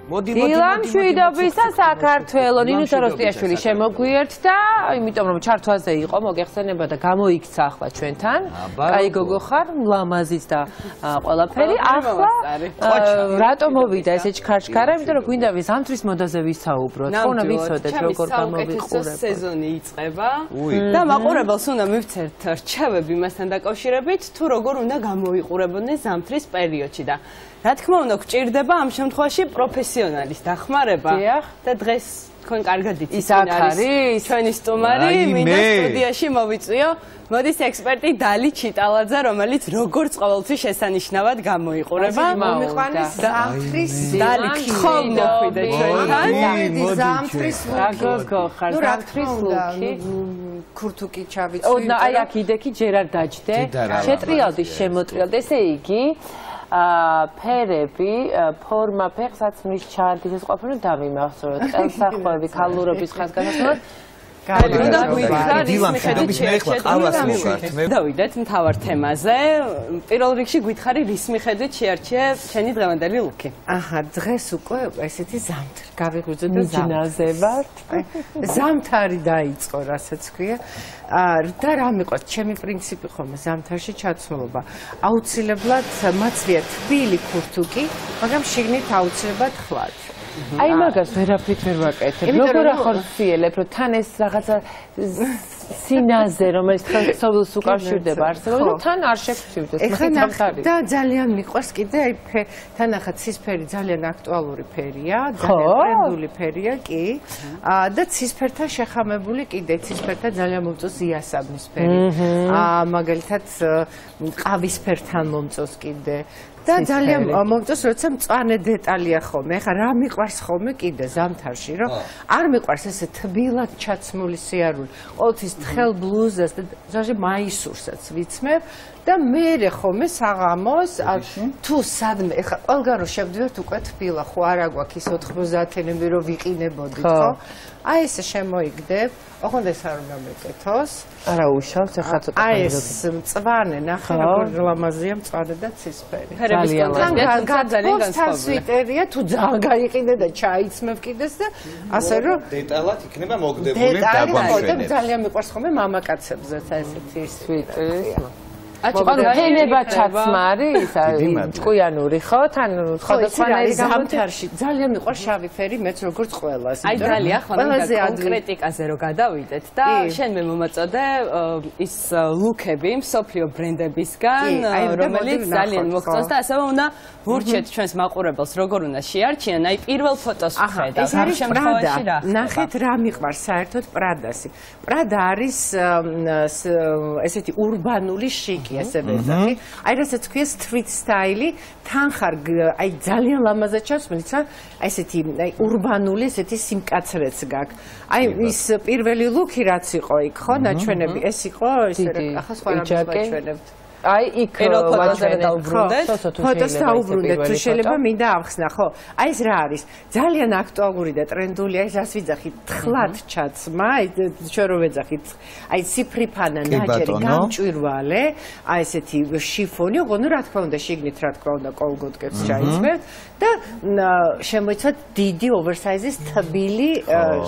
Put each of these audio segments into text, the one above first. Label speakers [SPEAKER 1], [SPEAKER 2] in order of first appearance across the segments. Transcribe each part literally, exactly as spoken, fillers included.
[SPEAKER 1] დილამ შვიდობისა საქართველო ნინო თოროსტიაშვილი შემოგვიერთდა, იმიტომ რომ ჩართვაზე იყო, მოგეხსენება და გამოიქცა ახლა ჩვენთან. კაი გოგო ხარ, ლამაზიც და ყველაფერი. ახლა რატო მოვიდა ესე ჩქარჩქარა, იმიტომ რომ გვინდა ზამთრის მოდაზე ვისაუბროთ. ხონა ვიცოდეთ როგორ გამოვიყურებთ.
[SPEAKER 2] სეზონი იწყება და მაყურებელს უნდა მივცერთ რჩევები მასთან დაკავშირებით, თუ როგორ უნდა გამოიყურებოდნენ ზამთრის პერიოდში და რა თქმა უნდა გვჭირდება ამ შემთხვევაში პროფესიონალის დახმარება და დღეს თქვენ კარგად იცით
[SPEAKER 1] ის არის
[SPEAKER 2] ჩვენი სტუმარი მინდა სტუდიაში მოვიწვიო მოდის ექსპერტი დალი ჩიტალაძე რომელიც როგორც ყოველთვის შესანიშნავად გამოიყურება
[SPEAKER 3] მომიყვანეს ზამთრის
[SPEAKER 2] დალი ხომ მოხვიდა ჩვენთან
[SPEAKER 3] ზამთრის
[SPEAKER 1] გოგო ხარ ზამთრის ლუკი
[SPEAKER 3] ქურთუკი ჩავიწვი
[SPEAKER 1] აი აქ იდექი ჯერ არ დაჯდე შეტრიალდი შემოტრიალდი ესე იგი ფერები, ფორმა, ფეხსაც მის ჩადის ყოფილი დავიმახსოვროთ. ყელსახვევი, ქალურობის ხაზგასაცნობად
[SPEAKER 2] და დავიდეთ მთავარ თემაზე. პირველ რიგში გითხარი რის მიხედვით შეარჩიე შენი დღევანდელი ლუკი.
[SPEAKER 3] აჰა, დღეს უკვე ესეთი ზამთრი გავიღვიძე და
[SPEAKER 1] ზამთრზე ვარ.
[SPEAKER 3] ზამთარი დაიწყო, რასაც ქვია. და რა მიყვარს, ჩემი პრინციპი ხომ ზამთარში ჩაცმულობა. აუცილებლად მაცვია თბილი ქურთუკი, მაგრამ შიგნით აუცილებლად ხლად.
[SPEAKER 1] აი მაგას ვერაფრით ვერ ვაკეთებ. როგორ ახორციელებ, რომ თან ეს რაღაცა სინაზე, რომელიც ხელსაუბრს უკავშირდება არსებობს და თან არ შეგწევდეს.
[SPEAKER 3] და ძალიან მიყვარს კიდე აი თანახა ცისფერი ძალიან აქტუალური ფერია, ძალიან ტრენდული ფერია კი. და ცისფერთან შეხამებული კიდე ცისფერთან ძალიან მომწონს იასამნის ფერი. მაგალითად ყავისფერთან მომწონს კიდე. და ძალიან მომწონს, როცა მწვანე დეტალია ხოლმე. ეხლა რა მიყვარს ხოლმე კიდე ზამთარში, რომ არ მიყვარს ესე თბილად ჩაცმული სიარული. ყოველთვის თხელ ბლუზას და ზოგადად მაისურსაც ვიცმევ და მე ხოლმე საღამოს თუ სადმე ეხლა ყველგან რომ შევდივართ უკვე თბილა ხო არა გვაქვს ის ოთხმოცდაათიანები რომ ვიყინებოდით ხო? აი ესე შემოიგდებ, ოღონდ ეს არ უნდა მეკეთოს.
[SPEAKER 1] არა უშავს ეხლა ცოტა
[SPEAKER 3] აი ეს მწვანე ნახე როგორ ლამაზია მწვანე და ცისფერი.
[SPEAKER 2] ძალიან
[SPEAKER 3] ძალიან განსხვავებია. თუ ძალიან გაიყიდე და ჩაიცმევ კიდეს და ასე რომ
[SPEAKER 4] დეტალად იქნება მოგდებული დაგვამშვენებ.
[SPEAKER 3] ძალიან მიყვარს ხოლმე მამაკაცებზეც ესეთი სვიტრი.
[SPEAKER 1] ფენება ჩაცმა არის ჭკვიანური ხო? თან სხვადასხვანაირი
[SPEAKER 2] ზამთარში
[SPEAKER 3] ძალიან მიყვარს შავი ფერი, მეც როგორც ყველას.
[SPEAKER 2] აი დალია ხო კონკრეტიკაზე რომ გადავიდეთ და შენ მე მომაწოდე ის ლუკები მსოფლიო ბრენდებისგან, რომელიც ძალიან მოგწონს და ასევე უნდა ვურჩეთ ჩვენს მაყურებელს როგორ უნდა შეარჩიენ, აი პირველ ფოტოს ვხედავ.
[SPEAKER 3] ეს არის პრადა. ნახეთ რა მიყვარს საერთოდ პრადასი. პრადა არის ესეთი ურბანული შიკი. ასე ვეძახი. აი რასაც ქვია street style-ი, თან ხარ აი ძალიან ლამაზად ჩასმული, ცა აი ესეთი აი ურბანული ესეთი სიმკაცრეც გაქვს. აი ის პირველი ლუკი რაც იყო იქ ხო ნაჩვენები, ეს იყო ესე ახლა სხვა რამეს ვაჩვენებთ.
[SPEAKER 1] აი იქ
[SPEAKER 2] ფოტოზე დაუბრუნდეთ,
[SPEAKER 3] ფოტოს დაუბრუნდეთ, თუ შეიძლება მინდა ავხსნა, ხო? აი ეს რა არის? ძალიან აქტუალური და ტრენდულია, ეს რას ვიძახით, თხლად ჩაცმა, აი ჩვენ რო ვეძახით, აი ციფრიფანა ნაჯერი გამჭვირვალე, აი ესეთი შიფონი, ოღონდ რა თქმა უნდა, შიგნით რა თქმა უნდა, კოლგოტკებს ჩაიცმევთ და შემოიცვათ დიდი ოვერსაიზის თბილი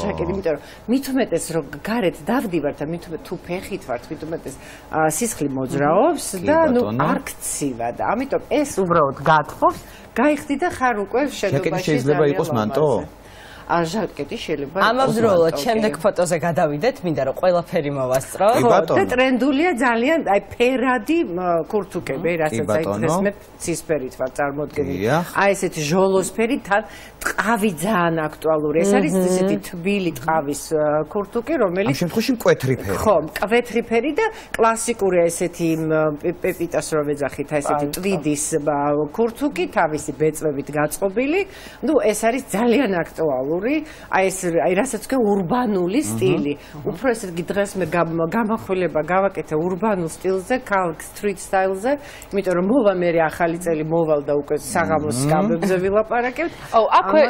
[SPEAKER 3] ჟაკეტი, იმიტომ რომ მით უმეტეს რომ გარეთ დავდივართ და მით უმეტეს თუ ფეხით ვართ, მით უმეტეს სისხლი მოძრაობს და ნუ არ გცივა და ამიტომ ეს უბრალოდ გათხოვს, გაიხდი და ხარ უკვე შედობაში
[SPEAKER 4] შეიძლება იყოს მანტო?
[SPEAKER 3] ა ჟაკეტი შეიძლება.
[SPEAKER 2] ამავდროულად შემდეგ ფოტოზე გადავიდეთ, მინდა რომ ყველაფერი მოვასწრო.
[SPEAKER 3] და ტრენდულია ძალიან აი ფერადი ქურთუკები, რასაც აი დღეს მე ცისფერით ვარ წარმოდგენილი. აი ესეთი ჟოლოსფერი თან ტყავი ძალიან აქტუალური. ეს არის ესეთი თბილი ტყავის ქურთუკი, რომელიც
[SPEAKER 4] ამ შემთხვევაში მკვეთრი ფერი.
[SPEAKER 3] ხო, მკვეთრი ფერი და კლასიკური ესეთი პეპიტას რო ვეძახით, აი ესეთი ტვიდის ქურთუკი, თავისი ბეწვებით გაწყობილი. ნუ ეს არის ძალიან აქტუალური. აქტუალური, აი ეს აი რასაც ქვია ურბანული სტილი. უფრო ესე დღეს მე გამახვილება გავაკეთე ურბანულ სტილზე, ქალ street style-ზე, იმიტომ რომ მოვა მე ახალი წელი მოვალ და უკვე საღამოს სკამებზე ვილაპარაკებთ.
[SPEAKER 1] ო, აქვე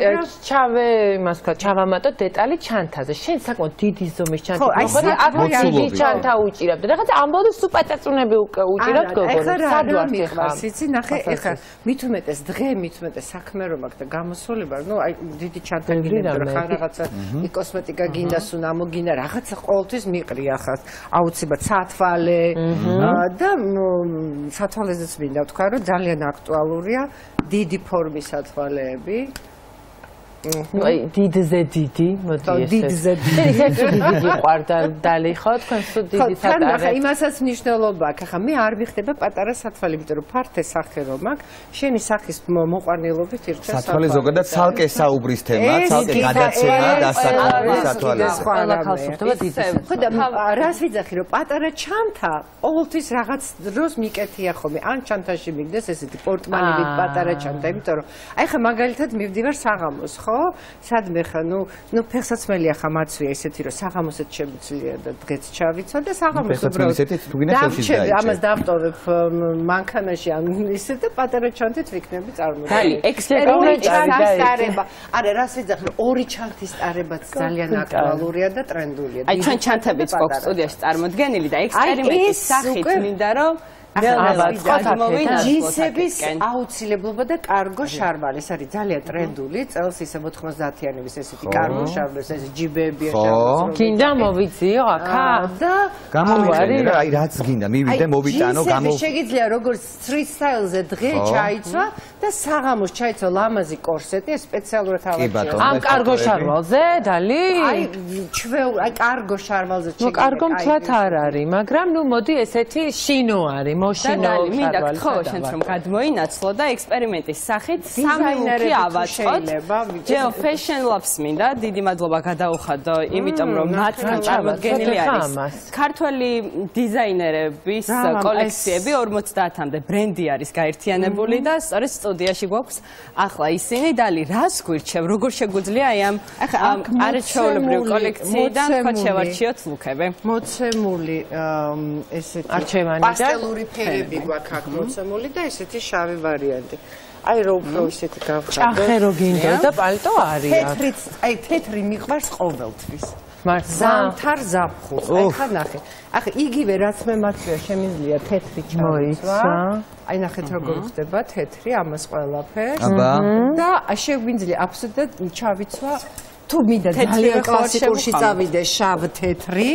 [SPEAKER 1] ჩავე, იმას ვქვა, ჩავამატოთ დეტალი ჩანთაზე. შენ საკმაოდ დიდი ზომის ჩანთა მოხდა, აქვე დიდი ჩანთა უჭირავდა. რაღაცა ამბოლოს სუპატაწუნები უჭირავთ გოგონა.
[SPEAKER 3] სად ვარ მიყვარს, იცი, ნახე, ეხლა მით უმეტეს დღე, მით უმეტეს საქმე რომ აქვს და გამოსვლება, ნუ აი დიდი ჩანთა გინდა, რომ ხარ რაღაცა კოსმეტიკა გინდა, სულ ამოგინდა, რაღაცა ყოველთვის მიყრია ხარ. აუცილებლად სათვალე და სათვალეზეც მინდა ვთქვა, რომ ძალიან აქტუალურია დიდი ფორმის სათვალეები.
[SPEAKER 1] აი დიდზე დიდი, მოდი ესე. დიდზე დიდი. დიდი ყვარდალი ხო, თქვენ სულ დიდი საკარად.
[SPEAKER 3] თან ახლა იმასაც მნიშვნელობა აქვს. ახლა მე არ ვიხდება პატარა სათვალე, იმიტომ რომ ფართე სახე რომ აქვს, შენი სახის მოყვანილობით ირჩევს სათვალე.
[SPEAKER 4] სათვალე ზოგადად ცალკე საუბრის თემა, ცალკე გადაცემა და საკუთარი სათვალე.
[SPEAKER 1] ყველა ხალხს ხდება დიდი.
[SPEAKER 3] ხო და რას ვიძახი რომ πატარა ჩანთა ყოველთვის რაღაც დროს მიკეთია ხოლმე. ან ჩანთაში მიგდეს ესეთი პორტმანებით პატარა ჩანთა, იმიტომ რომ აი ხა მაგალითად მივდივარ საღამოს, ხო? სადმე ხა, ნუ, ნუ ფეხსაცმელი ახლა მაცვია ესეთი, რომ საღამოსაც შემიძლია და დღეც ჩავიცვა და საღამოს
[SPEAKER 4] უბრალოდ ესეთი თუ გინდა ხელში დაიჭე.
[SPEAKER 3] ამას დავტოვებ მანქანაში ან ისე და პატარა ჩანთით ვიქნები წარმოდგენილი.
[SPEAKER 1] დალი, ექსპერიმენტი
[SPEAKER 3] ტარება. არა, რას ვიძახი, რომ ორი ჩანთის ტარებაც ძალიან აქტუალურია და ტრენდულია.
[SPEAKER 2] აი ჩვენ ჩანთებიც გვაქვს სტუდიაში წარმოდგენილი და ექსპერიმენტის სახით მინდა რომ
[SPEAKER 3] ჯინსების აუცილებლობა და კარგო შარვალი. ეს არის ძალიან ტრენდული, წელს ისე ოთხმოცდაათიანების ესეთი კარგო შარვალი, ეს ჯიბეებია შარვალი.
[SPEAKER 1] გინდა მოვიძიო აქა
[SPEAKER 3] და
[SPEAKER 4] გამოვიწყე რა, აი რაც გინდა, მივიდე, მოვიტანო, გამო.
[SPEAKER 3] შეგიძლია როგორც street style-ზე დღე ჩაიცვა და საღამოს ჩაიცვა ლამაზი კორსეტი, ეს სპეციალურად ავაჭრე.
[SPEAKER 1] ამ კარგო შარვალზე, დალი?
[SPEAKER 3] აი ჩვეულ, აი კარგო შარვალზე
[SPEAKER 1] შეგიძლია. ნუ კარგო მთლად არ არის, მაგრამ ნუ მოდი ესეთი შინო არის.
[SPEAKER 2] დალი, მინდა გთხოვო შენც რომ გადმოინაცვლო და ექსპერიმენტის სახით სამი ლუკი ავაწყოთ. Geo Fashion Labs მინდა დიდი მადლობა გადაუხადო, იმიტომ რომ მათთან წარმოდგენილი არის ქართველი დიზაინერების კოლექციები ორმოცდაათამდე ბრენდი არის გაერთიანებული და სწორედ სტუდიაში გვაქვს ახლა ისინი. დალი, რას გვირჩევ, როგორ შეგვიძლია აი ამ არაჩვეულებრივ კოლექციიდან თქვა შევარჩიოთ ლუკები?
[SPEAKER 3] მოცემული ესეთი
[SPEAKER 1] არჩევანი და
[SPEAKER 3] პასტელური ფერები გვაქვს აქ მოცემული და ესეთი შავი ვარიანტი. აი რო უფრო ისეთი გავხადე.
[SPEAKER 1] ჭახე რო გინდა და პალტო არის.
[SPEAKER 3] თეთრი, აი თეთრი მიყვარს ყოველთვის. ზამთარ ზაფხულს. აი ხა ნახე. ახლა იგივე რაც მე მათვია შემიძლია თეთრი ჩავიცვა. აი ნახეთ როგორ ხდება თეთრი ამას ყველაფერს. და შეგვიძლია აბსოლუტურად ჩავიცვა თუ მინდა ძალიან კლასიკურში წავიდე შავ თეთრი,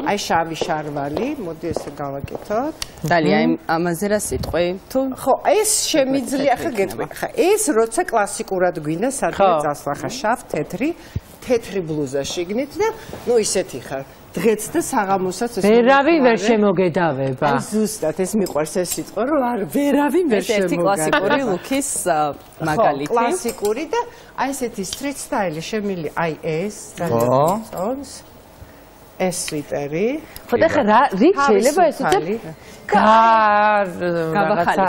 [SPEAKER 3] აი შავი შარვალი, მოდი ესე გავაკეთოთ.
[SPEAKER 2] დალი, აი ამაზე რა სიტყვი? თუ
[SPEAKER 3] ხო, ეს შემიძლია, ხა გეტყვი, ხა ეს როცა კლასიკურად გვინდა სადღაც წასვლა, ხა შავ თეთრი, თეთრი ბლუზა შიგნით და ნუ ისეთი ხარ. დღეც და საღამოსაც ეს
[SPEAKER 1] ვერავი ვერ შემოგედავება.
[SPEAKER 3] აი ზუსტად ეს მიყვარს ეს სიტყვა, რომ არ ვერავი ვერ შემოგედავება.
[SPEAKER 2] ეს ერთი კლასიკური ლუკის მაგალითი.
[SPEAKER 3] კლასიკური და აი ესეთი street style შემილი, აი ეს ძალიან წონს. ეს სვიტერი.
[SPEAKER 1] ხო და ხა რა რით შეიძლება ეს უცებ გარ რაღაცა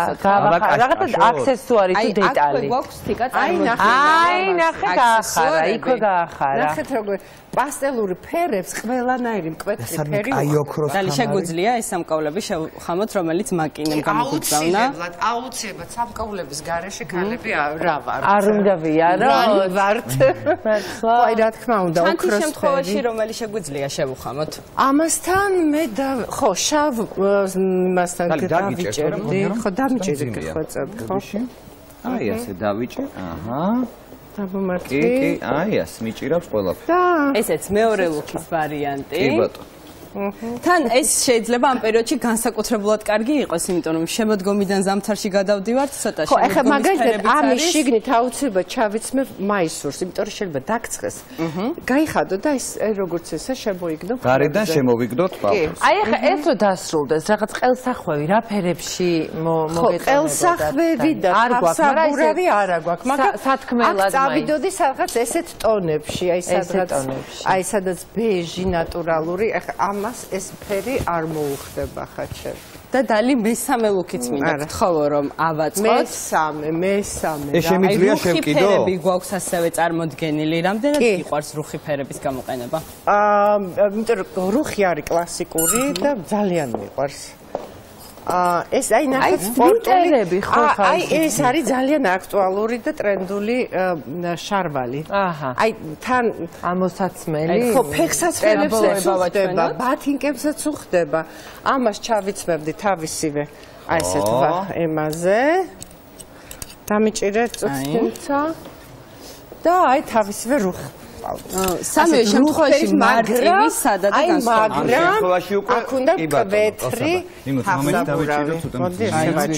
[SPEAKER 1] რაღაცა აქსესუარი თუ დეტალი.
[SPEAKER 2] აი გვაქვს თიკა
[SPEAKER 3] წარმოდგენილი.
[SPEAKER 1] აი ნახე გაახარა, იქვე გაახარა.
[SPEAKER 3] ნახეთ როგორ პასტელური ფერებს ყველანაირი მკვეთრი ფერი.
[SPEAKER 4] აი ოქროს.
[SPEAKER 2] დალი შეგვიძლია ეს სამკაულები შევხამოთ, რომელიც მაკინემ გამოგუძავნა.
[SPEAKER 3] აუცილებლად, აუცილებლად სამკაულების გარეშე ქალები რა ვარ.
[SPEAKER 1] არ უნდა ვიარო.
[SPEAKER 3] ვართ. აი რა თქმა უნდა, ოქროს
[SPEAKER 2] ფერი. ჩანთის შემთხვევაში რომელი შეგვიძლია შევხამოთ?
[SPEAKER 3] ამასთან მე და ხო შავ მასთან დავიჭერდი. ხო დამიჭერდი ხო წავდი ხო?
[SPEAKER 4] აი ასე დავიჭე. აჰა.
[SPEAKER 3] დაბომართი.
[SPEAKER 4] კი, კი, აი ასე მიჭირავს ყველაფერს.
[SPEAKER 3] და
[SPEAKER 2] ესეც მეორე ლუკის ვარიანტი.
[SPEAKER 4] კი ბატონო.
[SPEAKER 2] თან ეს შეიძლება ამ პერიოდში განსაკუთრებულად კარგი იყოს, იმიტომ რომ შემოდგომიდან ზამთარში გადავდივართ, ცოტა
[SPEAKER 3] ხო, ეხლა მაგალითად ამის შიგნით აუცილებლად ჩავიცმე მაისურს, იმიტომ რომ შეიძლება დაგცხეს. გაიხადო და ეს როგორც ესა შემოიგდო.
[SPEAKER 4] გარედან შემოვიგდოთ პალტოს.
[SPEAKER 1] აი ახლა ეს რო დასრულდეს, რაღაც ყელსახვევი რა ფერებში მოგეწონება?
[SPEAKER 3] ხო, ყელსახვევი და საბურავი არა გვაქვს, მაგრამ
[SPEAKER 1] სათქმელად
[SPEAKER 3] წავიდოდი სადღაც ესეთ ტონებში, აი სადღაც აი სადაც ბეჟი ნატურალური, ახლა ამ მას ეს ფერი არ მოუხდება ხაჩერ.
[SPEAKER 2] და დალი მესამე ლუკიც მინდა გთხოვო რომ ავაწყოთ.
[SPEAKER 3] მესამე, მესამე.
[SPEAKER 4] ეს შემიძლია შევკიდო?
[SPEAKER 2] რუხი ფერები გვაქვს ასევე წარმოდგენილი. რამდენად გიყვარს რუხი ფერების გამოყენება?
[SPEAKER 3] აა, იმიტომ რომ რუხი არის კლასიკური და ძალიან მიყვარს. აა ეს აი ნახეთ
[SPEAKER 1] სპორტელები ხო ხარ?
[SPEAKER 3] აი ეს არის ძალიან აქტუალური და ტრენდული შარვალი.
[SPEAKER 1] აჰა.
[SPEAKER 3] აი თან
[SPEAKER 1] ამოსაცმელი.
[SPEAKER 3] ხო, ფეხსაცმელებსაც უხდება, ბათინკებსაც უხდება. ამას ჩავიცმებდი თავისივე აი ესეთ ემაზე. დამიჭირეთ წუთსა და აი თავისივე რუხი.
[SPEAKER 2] სამივე შემთხვევაში მარტივი სადა და
[SPEAKER 3] განსხვავებული. აქ უნდა კვეთრი.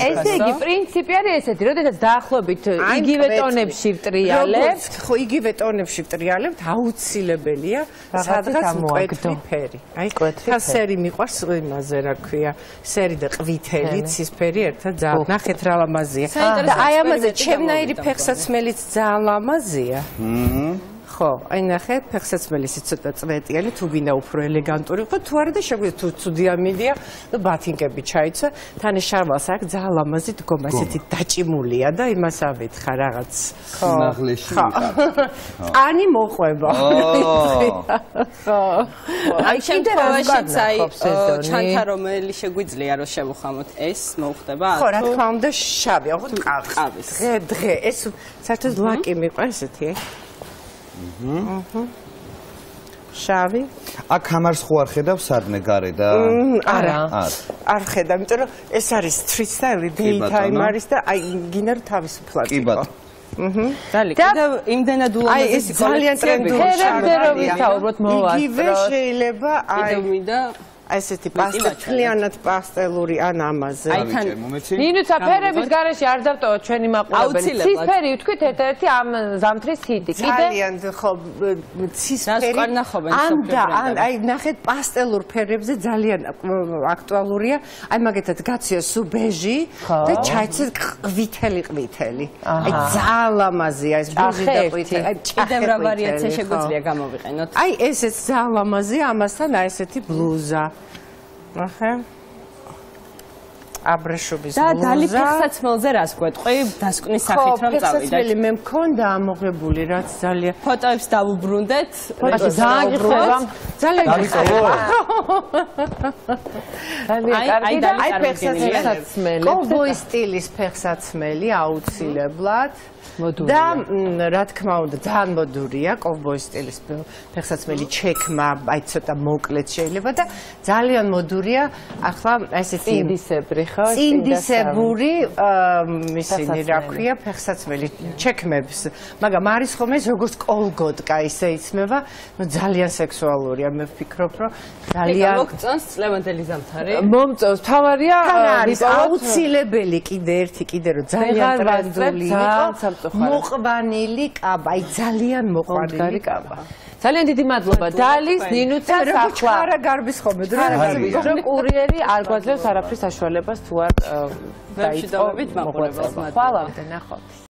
[SPEAKER 1] ესე იგი პრინციპი არის ესეთი, როდესაც დაახლოებით იგივე ტონებში ვტრიალებთ,
[SPEAKER 3] ხო, იგივე ტონებში ვტრიალებთ, აუცილებელია სადღაც მკვეთრი ფერი. აი, კვეთრი სერი მიყვარს იმაზე, რა ქვია, სერი და ყვითელი, ცისფერი ერთად ძალიან. ნახეთ რა ლამაზია. და აი ამაზე ჩემნაირი ფეხსაცმელიც ძალიან ლამაზია. აჰა. ხო, აი ნახეთ, ფეხსაცმელისი ცოტა წვეტიანი, თუ გინდა უფრო ელეგანტური, ხო, თუ არა და შეგვიძლია თუ ცუდი ამიდია, და ბათინკები ჩაიცვა, თან ეს შარვალს აქ ძალიან ლამაზი დგომა, ესეთი დაჭიმულია და იმას ავითხა რაღაც.
[SPEAKER 4] ხო. ნაღლეში.
[SPEAKER 3] ანი მოყვება.
[SPEAKER 2] ხო. აი შემთხვევაშიც აი ჩანთა რომელი შეგვიძლია რომ შევუხამოთ ეს მოხდება?
[SPEAKER 3] ხო, რა თქმა უნდა, შავი, ხო, ყავის. დღე დღე ეს საერთოდ ლაკი მიყვარს ესეთი, აჰა. შავი.
[SPEAKER 4] აქ ამარს ხო არ ხედავ სადმე გარე და
[SPEAKER 3] არა. არ ხედავ, იმიტომ რომ ეს არის street style, daytime არის და აი გინდა რომ თავისუფლად
[SPEAKER 4] იყო. კი ბატონო.
[SPEAKER 2] აჰა. დალი, კიდევ იმდენად ულამაზესი
[SPEAKER 3] ძალიან ტრენდული
[SPEAKER 1] შარვალია. ვისაუბროთ მოვასწროთ.
[SPEAKER 3] იგივე შეიძლება აი
[SPEAKER 2] კიდევ მინდა
[SPEAKER 3] ესეთი პასტელიანად პასტელური ან ამაზე.
[SPEAKER 2] აი თან
[SPEAKER 1] ნინუცა ფერების გარეშე არ დავტოვოთ ჩვენი მაყურებელი. ცისფერი ვთქვით ერთ-ერთი ამ ზამთრის ჰიტი. კიდე
[SPEAKER 3] ძალიან ხო ცისფერი. ან და ან აი ნახეთ პასტელურ ფერებზე ძალიან აქტუალურია. აი მაგეთად გაცია სუ ბეჟი და ჩაიცეთ ყვითელი ყვითელი. აი ძალიან ლამაზია ეს ბეჟი და ყვითელი. აი
[SPEAKER 2] კიდევ რა ვარიაცია შეგვიძლია გამოვიყენოთ?
[SPEAKER 3] აი ესეც ძალიან ლამაზია, ამასთან აი ესეთი ბლუზა. ახლა აბრეშობის
[SPEAKER 2] და დალი ფეხსაცმელზე რას გვეტყვი დასკვნის სახით რომ წავიდეთ.
[SPEAKER 3] ფეხსაცმელი მე მქონდა ამოღებული რაც ძალიან
[SPEAKER 2] ფოტოებს დავუბრუნდეთ.
[SPEAKER 1] ფოტო ძალიან გიხვდება.
[SPEAKER 3] ძალიან გიხვდება.
[SPEAKER 1] აი
[SPEAKER 3] აი ფეხსაცმელი. კოვბოი სტილის ფეხსაცმელი აუცილებლად. და რა თქმა უნდა ძალიან მოდურია კოვბოი სტილის ფეხსაცმელი ჩექმა აი ცოტა მოკლეც შეიძლება და ძალიან მოდურია ახლა ესეთი
[SPEAKER 1] წინდისებრი ხო
[SPEAKER 3] წინდისებური ისინი რა ქვია ფეხსაცმელი ჩექმებს მაგრამ არის ხოლმე როგორც კოლგოტკა ისე იცმება ნუ ძალიან სექსუალურია მე ვფიქრობ რომ ძალიან
[SPEAKER 2] მოგწონს წლევანდელი ზამთარი
[SPEAKER 1] მომწონს თავარია
[SPEAKER 3] აუცილებელი კიდე ერთი კიდე რომ ძალიან ტრენდული იყო მოყვანილი კაბა, აი ძალიან მოყვანილი კაბა.
[SPEAKER 1] ძალიან დიდი მადლობა დალის, ნინუცას ახლა.
[SPEAKER 3] არა გარბის ხომე დრო.
[SPEAKER 1] რომ კურიერი არ გვაძლევს არაფრის საშუალებას თუ არ
[SPEAKER 2] დაიწყო მოყვება.
[SPEAKER 1] ხვალამდე ნახავთ.